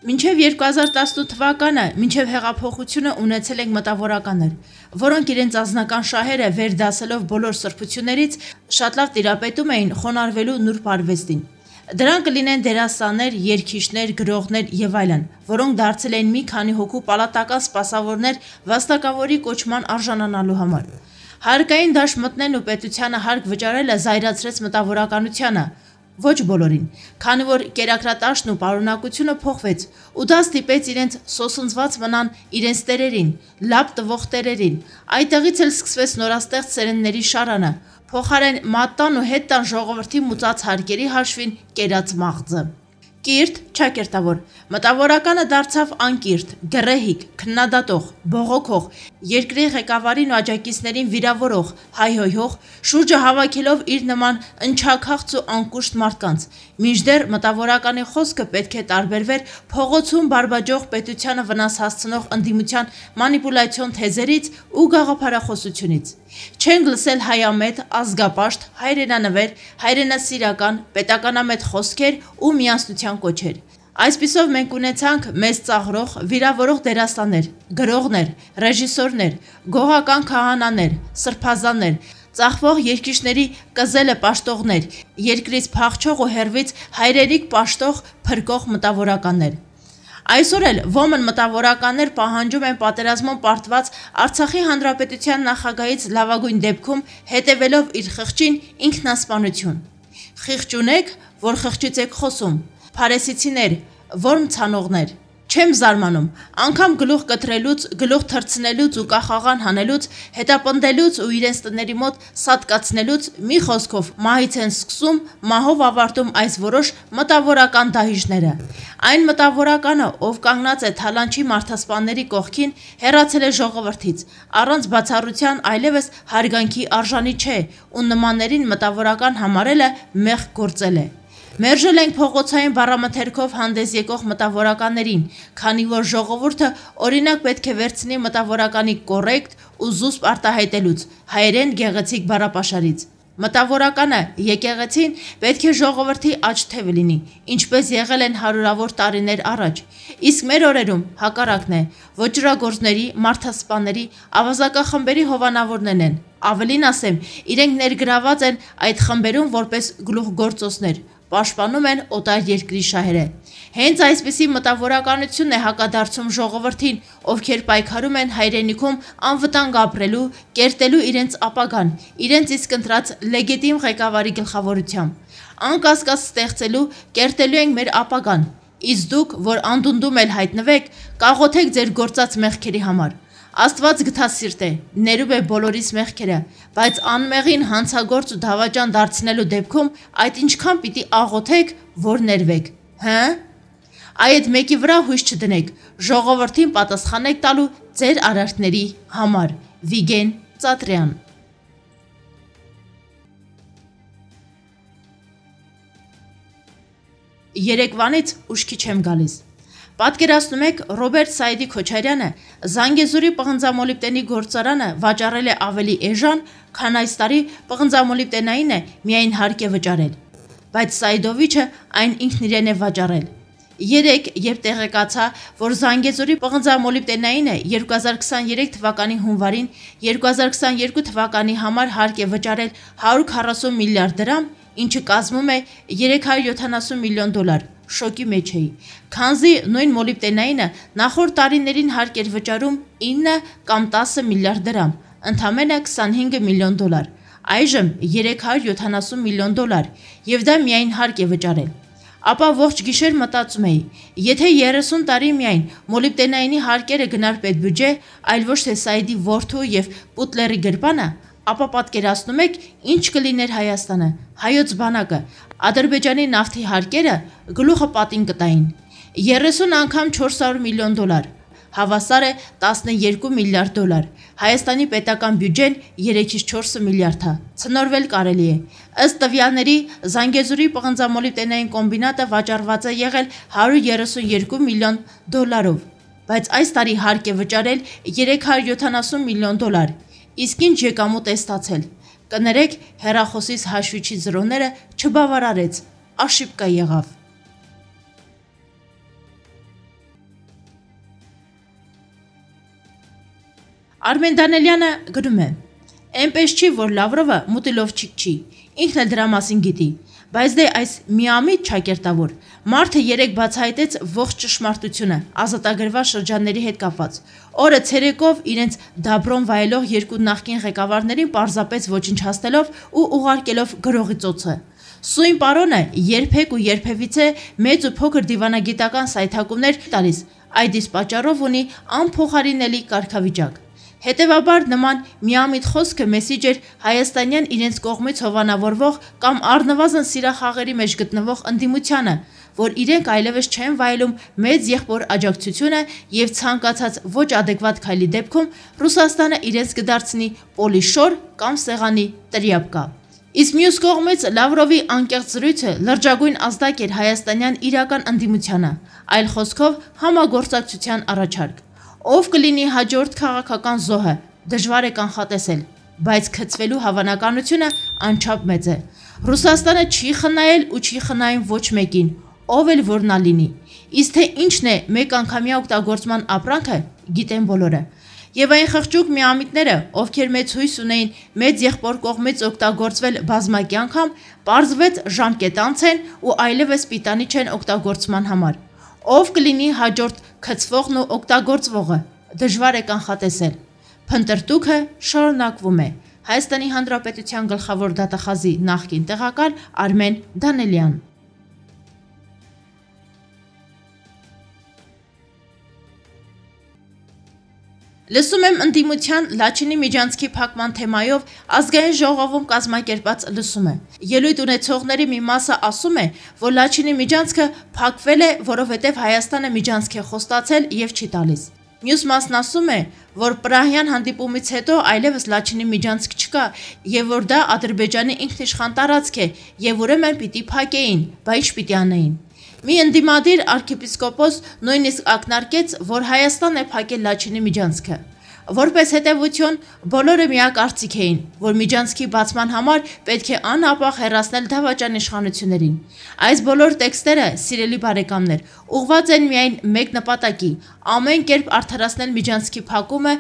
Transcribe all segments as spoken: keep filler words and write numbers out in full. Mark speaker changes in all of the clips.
Speaker 1: Մինչև երկու հազար տասնութ թվականը, մինչև հեղափոխությունը ունեցել ենք մտավորականներ, որոնք իրենց անձնական շահերը վերդասելով բոլոր սրբություններից շատ լավ տիրապետում էին խոնարհվելու նուրբ արվեստին։ Դրանք կլինեն դերասաններ, երգիչներ, գրողներ եւ այլն, որոնք դարձել էին մի քանի հոգու պալատական սպասավորներ վաստակավորի կոչման արժանանալու համար։ Հարկային դաշտ մտնելն ու պետությանը հարկ վճարելը զայրացրեց մտավորականությանը, ոչ բոլորին, քանի որ կերակրատաշտն ու պարունակությունը փոխվեց, ու դա ստիպեց իրենց սոսնձված մնան իրենց տերերին, լապ տվող տերերին, այդտեղից էլ սկսվեց նորաստեղծ սերնդների շարանը, փոխարեն մատտան ու հետ տան ժողովրդի մուծած հարկերի հաշվին կերած մաղձը։ Կիրթ, չակերտավոր, մտավորականը դարձավ անկիրթ, գռեհիկ, քննադատող, բողոքող, երկրի ղեկավարին ու աջակիցներին վիրավորող, հայհոյող, շուրջը հավաքելով իր նման ընչաքաղց ու անկուշտ մարդկանց, մինչդեռ մտավորականի խոսքը պետք է տարբերվեր փողոցում բարբաջող պետությանը վնաս հասցնող ընդդիմության մանիպուլյացիոն թեզերից ու գաղափարախոսությունից։ Չենք լսել հայամետ, ազգապաշտ, հայրենանվեր, հայրենասիրական, պետականամետ խոսքեր ու միասնության կոչեր։ Այսպիսով մենք ունեցանք մեզ ծաղրող, վիրավորող դերասաններ, գրողներ, ռեժիսորներ, գողական քահանաներ, սրբազաններ, ծաղվող երկիշների կզելը պաշտողներ, երկրից փախչող ու հեռվից հայրենիք պաշտող փրկող մտավորականներ։ Այսօր էլ ոմն մտավորականներ պահանջում են պատերազմում պարտված Արցախի հանրապետության նախագահից լավագույն դեպքում հետևելով իր խղճին ինքնասպանություն։ Խիղճ ունեք, որ խղճից եք խոսում, փարեսիցիներ, որմ ցանողներ։ Չեմ զարմանում, անգամ գլուխ կտրելուց, գլուխ թռցնելուց ու կախաղան հանելուց, հետապնդելուց ու իրենց տների մոտ սատկացնելուց մի խոսքով մահից են սկսում, մահով ավարտում այս որոշ մտավորական դահիճները։ Այն մտավորականը, ով կանգնած է թալանչի մարդասպանների կողքին, հեռացել է ժողովրդից, առանց բացառության այլևս հարգանքի արժանի չէ, ու նմաններին մտավորական համարելը մեղք գործել է։ Մերժել ենք փողոցային բառամթերքով հանդես եկող մտավորականներին, քանի որ ժողովուրդը օրինակ պետք է վերցնի մտավորականի կոռեկտ ու զուսպ արտահայտելուց, հայերեն գեղեցիկ բառապաշարից։ Մտավորականը, եկեղեցին պետք է ժողովրդի աջ թևը լինի, ինչպես եղել են հարյուրավոր տարիներ առաջ, իսկ մեր օրերում հակառակն է, ոճրագործների, մարդասպանների, ավազակախմբերի հովանավորներն են, ավելին ասեմ, իրենք ներգրաված են այդ խմբերում որպես գլուխգործոցներ, պաշտպանում են օտար երկրի շահերը։ Հենց այսպիսի մտավորականությունն է հակադարձում ժողովրդին, ովքեր պայքարում են հայրենիքում անվտանգ ապրելու, կերտելու իրենց ապագան, իրենց իսկ ընտրած լեգիտիմ ղեկավարի գլխավորությամբ։ Անկասկած ստեղծելու, կերտելու ենք մեր ապագան, իսկ դուք, որ անդունդում էլ հայտնվեք, կաղոթեք ձեր գործած մեղքերի համար։ Աստված գթասիրտ է, ներում է բոլորիս մեղքերը, բայց անմեղին հանցագործ ու դավաճան դարձնելու դեպքում այդ ինչքան պիտի աղոթեք, որ ներվեք, հը՞։ Այդ մեկի վրա հույս չդնեք, ժողովրդին պատասխանեք տալու ձեր արարքների համար։ Վիգեն Ծատրյան։ Երեկվանից ուշքի չեմ գալիս։ Պատկերացնում եք, Ռոբերտ Սայիդի Քոչարյանը Զանգեզուրի պղնձամոլիբդենի գործարանը վաճառել է ավելի էժան, քան այս տարի պղնձամոլիբդենային է միայն հարկ է վճարել, բայց Սայիդովիչը այն ինքն իրեն է վաճառել։ Երեկ, երբ տեղեկացա, որ Զանգեզուրի պղնձամոլիբդենայինը երկու հազար քսաներեք թվականի հունվարին երկու հազար քսաներկու թվականի համար հարկ է վճարել հարյուր քառասուն միլիարդ դրամ, ինչը կազմում է երեք հարյուր յոթանասուն միլիոն դոլար, շոկի մեջ էի, քանզի նույն մոլիբդենայինը նախորդ տարիներին հարկ էր վճարում ինը կամ տասը միլիարդ դրամ, ընդամենը քսանհինգ միլիոն դոլար, այժմ երեք հարյուր յոթանասուն միլիոն դոլար, եւ դա միայն հարկ է վճարել։ Ապա ողջ գիշեր մտածում էի, եթե երեսուն տարի միայն մոլիբդենայինի հարկերը գնար պետբյուջե, այլ ոչ թե Սայիդի որդու եւ Պուտլերի գրպանը, ապա պատկերացնում եք, ինչ կլիներ Հայաստանը, հայոց բանակը, Ադրբեջանի նավթի հարկերը գլուխը պատին կտային, երեսուն անգամ չորս հարյուր միլիոն դոլար, հավասար է տասներկու միլիարդ դոլար, Հայաստանի պետական բյուջեն երեքից չորսը միլիարդ է, ցնորվել կարելի է, ըստ տվյալների Զանգեզուրի պղնձամոլիբդենային կոմբինատը վաճառված է եղել հարյուր երեսունյոթ միլիոն դոլարով, բայց այս տարի հարկ է վճարել երեք հարյուր յոթանասուն միլիոն դոլար, իսկ ինչ եկամուտ է ստացել, կներեք հեռախոսից հաշվիչի զրոները չբավարարեց, աշիպկա եղավ։ Արմեն Դանելյանը գրում է. «Էնպես չի, որ Լավրովը մուտիլովչիկ չի, ինքն էլ դրա մասին գիտի, բայց դե այս միամիտ ճակերտավոր մարդը երեք բացահայտեց ողջ ճշմարտությունը ազատագրված շրջանների հետ կապված, օրը ցերեկով իրենց դաբրոն վայելող երկու նախկին ղեկավարներին պարզապես ոչնչացնելով ու ուղարկելով գրողի ծոցը։ Սույն պարոնը երբեք ու երբևիցե մեծ ու փոքր դիվանագիտական սայթակումներ տալիս, այդ իսկ պատճառով ունի անփոխարինելի կարգավիճակ։ Հետևաբար նման միամիտ խոսքը մեսիջ էր հայաստանյան իրենց կողմից հովանավորվող կամ առնվազն սիրախաղերի մեջ գտնվող ընդդիմությանը, որ իրենք այլևս չեն վայելում մեծ եղբոր աջակցությունը եւ ցանկացած ոչ ադեկվատ քայլի դեպքում Ռուսաստանը իրենց կդարձնի պոլիշոր կամ սեղանի տրիապկա։ Իսկ մյուս կողմից Լավրովի անկեղծ զրույցը լրջագույն ազդակ էր հայաստանյան իրական ընդդիմությանը, այլ խոսքով համագործակցության առաջարկ։ Ով կլինի հաջորդ քաղաքական զոհը, դժվար է կանխատեսել, բայց քծվելու հավանականությունը անչափ մեծ է։ Ռուսաստանը չի խնայել ու չի խնայում ոչ մեկին, ով էլ որ նա լինի։ Իսկ թե ինչն է մեկ անգամյա օգտագործման ապրանքը, գիտեն բոլորը։ Եվ այն խղճուկ միամիտները, ովքեր մեծ հույս ունեին մեծ եղբոր կողմից օգտագործվել բազմակի անգամ, պարզվեց ժամկետանց են ու այլևս պիտանի չեն օգտագործման համար։ Ով կլինի հաջորդ քծվողն ու օգտագործվողը, դժվար է կանխատեսել։ Փնտրտուքը շարունակվում է։ Հայաստանի Հանրապետության գլխավոր դատախազի նախկին տեղակալ Արմեն Դանելյան։ Լսում եմ ընդդիմության Լաչինի Միջանցքի փակման թեմայով ազգային ժողովում կազմակերպած լսումը։ Ելույթ ունեցողների մի մասը ասում է, որ Լաչինի Միջանցքը փակվել է, որովհետև Հայաստանը Միջանցք է խոստացել եւ չի տալիս։ Մյուս մասն ասում է, որ Պրահյան հանդիպումից հետո այլևս Լաչինի Միջանցք չկա եւ որ դա Ադրբեջանի ինքնիշխան տարածք է եւ ուրեմն պիտի փակեին, բայց ինչ պիտի անեին։ Մի ընդդիմադիր arczepiskopos նույնիսկ ակնարկեց, որ Հայաստանն է փակել Լաչինի Միջանցքը։ Որպես հետևություն, բոլորը միակարծիք էին, որ Միջանցքի բացման համար պետք է անհապաղ հեռացնել դավաճան իշխանություններին։ Այս բոլոր տեքստերը, սիրելի բարեկամներ, ուղղված են միայն մեկ նպատակի՝ ամեն կերպ արդարացնել Միջանցքի փակումը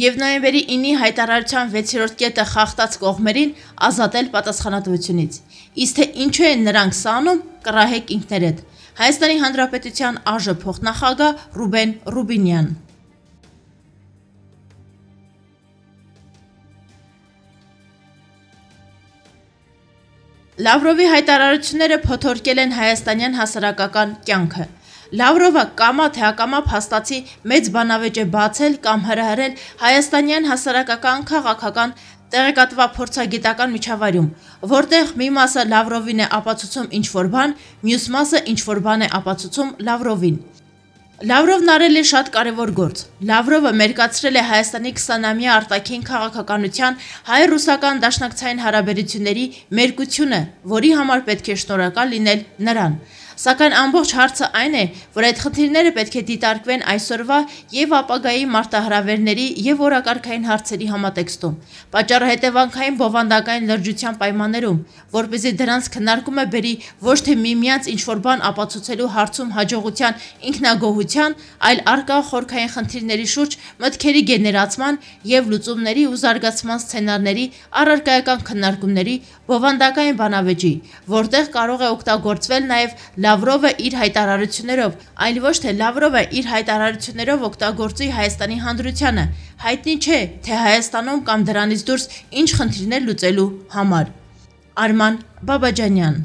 Speaker 1: եւ նոյեմբերի ինի հայտարարության վեցերորդ կետը խախտած կողմերին ազատել պատասխանատվությունից։ Իսկ թե ինչու են նրանք սա անում, կռահեք ինքներդ։ Հայաստանի Հանրապետության ԱԺ փոխնախագահ Ռուբեն Ռուբինյան։ Լավրովի հայտարարությունները փոթորկել են հայաստանյան հասարակական կյանքը։ Լավրովը կամա թե ակամա փաստացի մեծ բանավեճ է բացել կամ հրահրել հայաստանյան հասարակական քաղաքական տեղեկատվա փորձագիտական միջավայրում, որտեղ մի մասը Լավրովին է ապացուցում ինչ-որ բան, մյուս մասը ինչ-որ բան է ապացուցում Լավրովին։ Լավրովն արել է շատ կարևոր գործ։ Լավրովը մերկացրել է Հայաստանի քսանամյա արտաքին քաղաքականության հայ-ռուսական դաշնակցային հարաբերությունների մերկությունը, որի համար պետք է շնորհակալ լինել նրան։ Սակայն ամբողջ հարցը այն է, որ այդ խնդիրները պետք է դիտարկվեն այսօրվա եւ ապագայի մարտահրավերների եւ օրակարգային հարցերի համատեքստում, պատճառը հետևանքային բովանդակային լրջության պայմաններում, որպեսզի դրանց քննարկումը բերի ոչ թե միմյանց ինչ-որ բան ապացուցելու հարցում հաջողության ինքնագոհության, այլ արկա խորքային խնդիրների շուրջ մտքերի գեներացման եւ լուծումների ու զարգացման սցենարների առարկայական քննարկումների բովանդակային բանավեճի, որտեղ կարող է օգտագործվել նաեւ Լավրովը իր հայտարարություններով, այլ ոչ թե Լավրովը իր հայտարարություններով օգտագործի Հայաստանի հանրությանը, հայտնի չէ, թե Հայաստանում կամ դրանից դուրս ինչ խնդիրներ լուծելու համար։ Արման Բաբաջանյան։